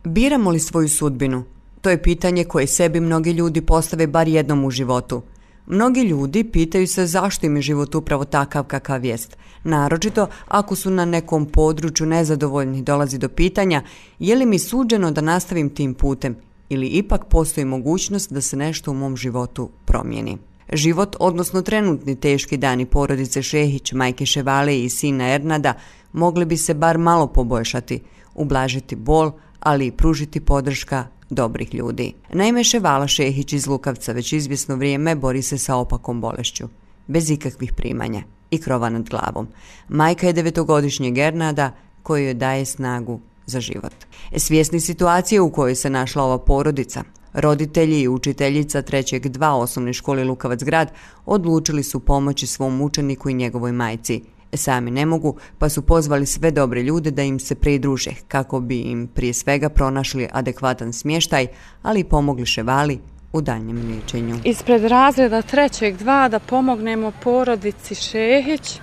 Biramo li svoju sudbinu? To je pitanje koje sebi mnogi ljudi postave bar jednom u životu. Mnogi ljudi pitaju se zašto im je život upravo takav kakav jest. Naročito ako su na nekom području nezadovoljni, dolazi do pitanja je li mi suđeno da nastavim tim putem ili ipak postoji mogućnost da se nešto u mom životu promijeni. Život, odnosno trenutni teški dani porodice Šehić, majke Ševale i sina Ernada mogli bi se bar malo poboljšati, ublažiti bol, ali i pružiti podrška dobrih ljudi. Naime, Ševala Šehić iz Lukavca već izvjesno vrijeme bori se sa opakom bolešću, bez ikakvih primanja i krova nad glavom. Majka je 9-godišnjeg Ernada koji joj daje snagu za život. Svjesni situacije u kojoj se našla ova porodica, roditelji i učiteljica 3.2 osnovne škole Lukavac grad odlučili su pomoći svom učeniku i njegovoj majci. Sami ne mogu, pa su pozvali sve dobre ljude da im se pridruže, kako bi im prije svega pronašli adekvatan smještaj, ali i pomogli Ševali u daljnjem liječenju. Ispred razreda 3.2 da pomognemo porodici Šehić,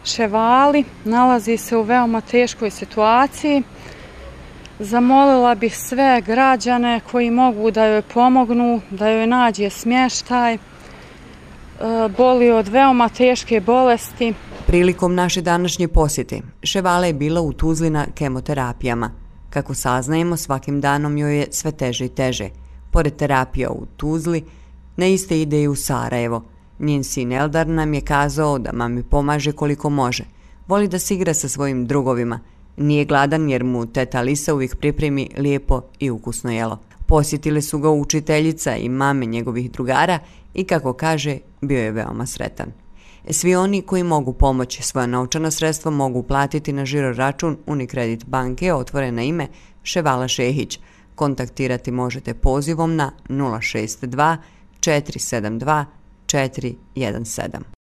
Ševali, nalazi se u veoma teškoj situaciji. Zamolila bih sve građane koji mogu da joj pomognu, da joj nađe smještaj, boli od veoma teške bolesti. Prilikom naše današnje posjete, Ševala je bila u Tuzli na kemoterapijama. Kako saznajemo, svakim danom joj je sve teže i teže. Pored terapija u Tuzli, na iste ide i u Sarajevo. Njen sin Eldar nam je kazao da mami pomaže koliko može. Voli da se igra sa svojim drugovima. Nije gladan jer mu teta Alisa uvijek pripremi lijepo i ukusno jelo. Posjetile su ga učiteljica i mame njegovih drugara i kako kaže, bio je veoma sretan. Svi oni koji mogu pomoći svoja novčana sredstva mogu platiti na žiro račun Unikredit banke otvoren na ime Ševala Šehić. Kontaktirati možete pozivom na 062 472 417.